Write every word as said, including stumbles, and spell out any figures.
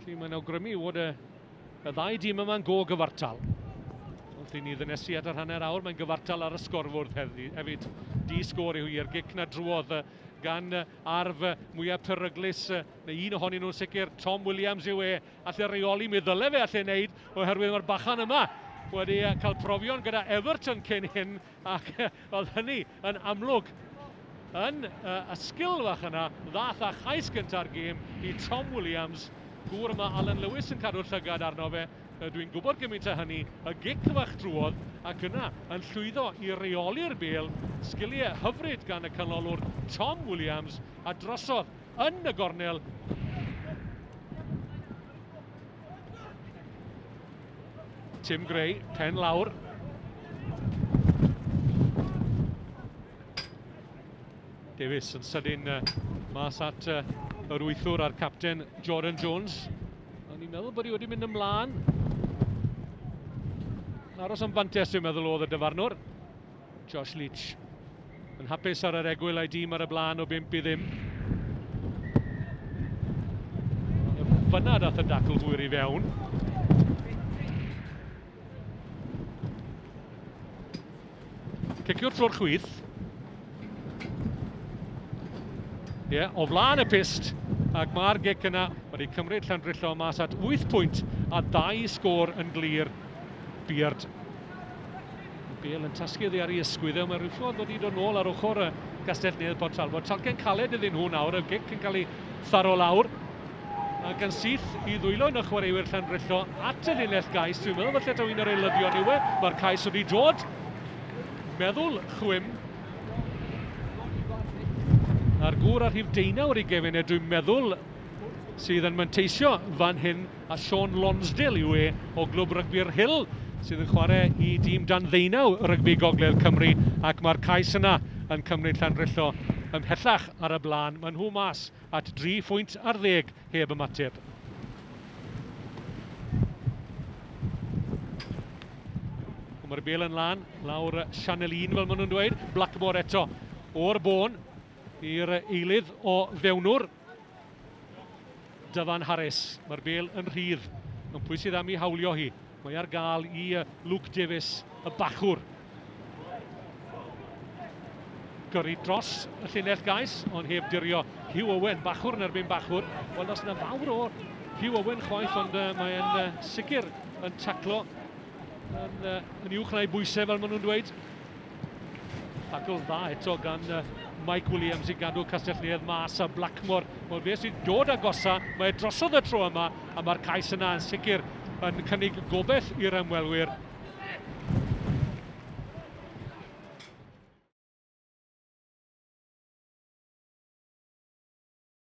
Felly mae'n awgrymu fod y, y ddau dîm yma'n go gyfartal. Wrth i ni ddynesu at yr hanner awr, mae'n gyfartal ar y sgorfwrdd hefyd. Di sgôr yw hi'r gic na drwodd gan arf mwyaf peryglus, neu un ohonyn nhw'n sicr, Tom Williams yw e, alle reoli, mi ddyle fe alle wneud, oherwydd mae'r bachan yma wedi cael profion gyda Everton cyn hyn, ac oedd hynny yn amlwg yn y sgil fach yna, ddath â chais gynta'r gêm i Tom Williams. Gŵr yma Alan Lewis yn cadw'r llygad arno fe, dwi'n gwybod gymaint o hynny, y gic fach drwodd, ac yna yn llwyddo i reoli'r bêl, sgiliau hyfryd gan y canolwr Tom Williams, a drosodd yn y gornel. Tim Gray, pen lawr. Davies yn sydyn mas at yr wythwr a'r capten Jordan Jones. O'n i'n meddwl bod hi wedi mynd ymlaen. Aros am fantes, dwi'n meddwl, oedd y dyfarnwr. Josh Leach yn hapus ar yr egwyl a'i dîm ar y blaen o bump i ddim. Fyna dath y dacl hwyr i fewn. Ciciwr trwy'r chwith. Ie, yeah, o flaen y pyst, ac mae'r gic yna wedi cymryd Llandrillo mas at wyth pwynt a dau sgôr yn glir. Beard. Y bêl yn tasgu oddi ar ei ysgwydd, mae rhyw ffordd wedi dod nôl ar ochr y Gastell Nedd Port Talbot. Talcen caled iddyn nhw nawr, y gic yn cael ei tharo lawr. Ac yn syth i ddwylo yn y chwaraewyr Llandrillo at y linell gais. Dwi'n meddwl falle taw un o'r eilyddion yw e. Mae'r cais wedi dod. Meddwl chwim. A'r gŵr ar rhif deunaw ar ei gefn e, dwi'n meddwl, sydd yn manteisio fan hyn, a Sean Lonsdale yw e o Glwb Rygbi'r Hill, sydd yn chwarae i dîm dan ddeunaw Rygbi Gogledd Cymru, ac mae'r cais yna yn cymryd Llandrillo ymhellach ar y blaen. Maen nhw mas at dri phwynt ar ddeg heb ymateb. Mae'r bêl yn lan, lawr Sianel un fel maen nhw'n dweud. Blackmore eto o'r bôn i'r eilydd o fewnwr. Dyfan Harris, mae'r bêl yn rhydd, ond pwy sydd am ei hawlio hi? Mae ar gael i Luke Davies, y bachwr. Gyrru dros y llinell gais, ond heb dirio Hugh Owen, bachwr yn erbyn bachwr. Wel, does yna fawr o Hugh Owen chwaith, ond uh, mae'n uh, sicr yn taclo yn, uh, yn uwch na'i bwysau, fel maen nhw'n dweud. Tacl dda eto gan uh, Mike Williams i gadw Castell Nedd mas, a Blackmore. Wel, fe sy'n dod agosa, mae drosodd y tro yma, a mae'r cais yna yn sicr yn cynnig gobeith i'r ymwelwyr.